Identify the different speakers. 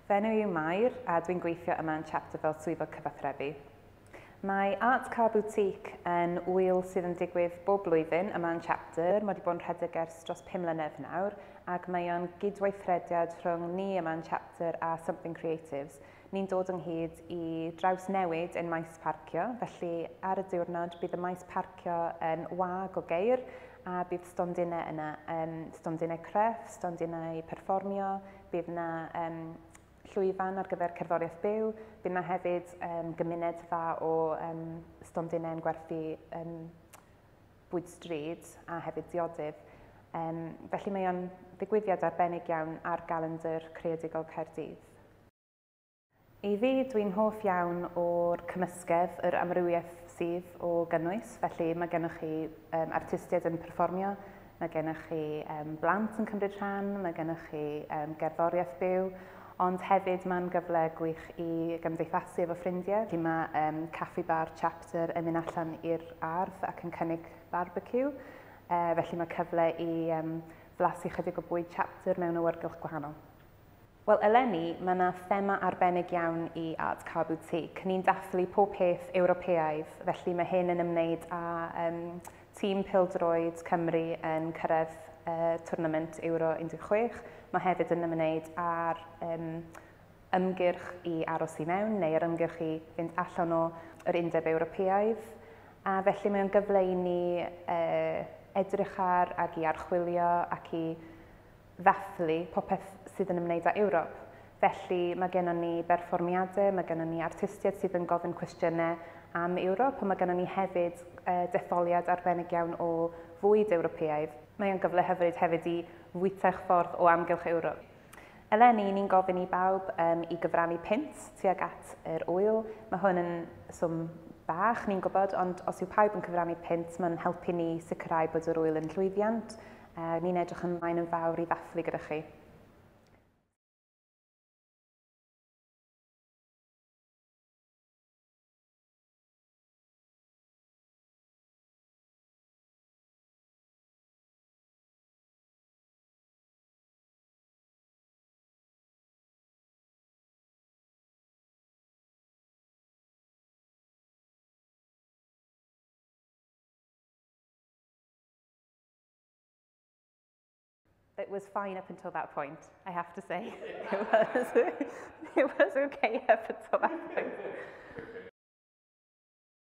Speaker 1: Fy enw yw Mair a dwi'n gweithio yma yn Chapter fel swyddog cyfathrebu. Mae Art Car Boutique yn ŵyl sydd yn digwydd bob blwyddyn yma yn Chapter. Mae wedi bod yn rhedeg ers dros 5 mlynedd nawr ac mae o'n gydweithrediad rhwng ni yma yn Chapter a Something Creatives. Ni'n dod ynghyd i drawsnewid ein maes parcio, felly ar y diwrnod bydd y maes parcio yn wag o geir a bydd stondinau yna, stondinau crefft, stondinau perfformio, bydd yna llwyfan ar gyfer cerddoriaeth byw, bydd yna hefyd gymuned dda o stondinau yn gwerthu bwyd stryd a hefyd diodydd. Felly mae o'n ddigwyddiad arbennig iawn ar galendr creadigol Caerdydd. I fi, dwi'n hoff iawn o'r cymysgedd, yr amrywiaeth sydd o gynnwys, felly mae gennych chi artistiaid yn perfformio, mae gennych chi blant yn cymryd rhan, mae gennych chi gerddoriaeth byw, ond hefyd mae'n gyfle gwych i gymdeithasu efo ffrindiau. Felly mae Caffi Bar Chapter yn mynd allan i'r ardd ac yn cynnig barbecue, felly mae cyfle i flasu chydig o bwyd Chapter mewn awyrgylch gwahanol. Wel, eleni, mae yna thema arbennig iawn i Art Car Boutique. Ni'n dathlu pob peth Ewropeaidd, felly mae hyn yn ymwneud â tîm pêl-droed Cymru yn cyrraedd twrnament Euro 16. Mae hefyd yn ymwneud â'r ymgyrch i aros i mewn, neu yr ymgyrch i fynd allan o yr Undeb Ewropeaidd. A felly mae o'n gyfle i ni edrych ar ac i archwilio ac i ddathlu popeth sydd yn ymwneud â Ewrop. Felly mae gennon ni berfformiadau, mae gennon ni artistiaid sydd yn gofyn cwestiynau am Ewrop, ond mae gennon ni hefyd detholiad arbennig iawn o fwyd Ewropeaidd. Mae o'n gyfle hyfryd hefyd i fwyta'ch ffordd o amgylch Ewrop. Eleni, ni'n gofyn i bawb i gyfrannu punt tuag at yr ŵyl. Mae hwn yn swm bach, ni'n gwybod, ond os yw pawb yn cyfrannu punt, mae'n helpu ni sicrhau bod yr ŵyl yn llwyddiant. Ni'n edrych ymlaen yn fawr i ddathlu gyda chi. It was fine up until that point, I have to say. It was okay up until that point.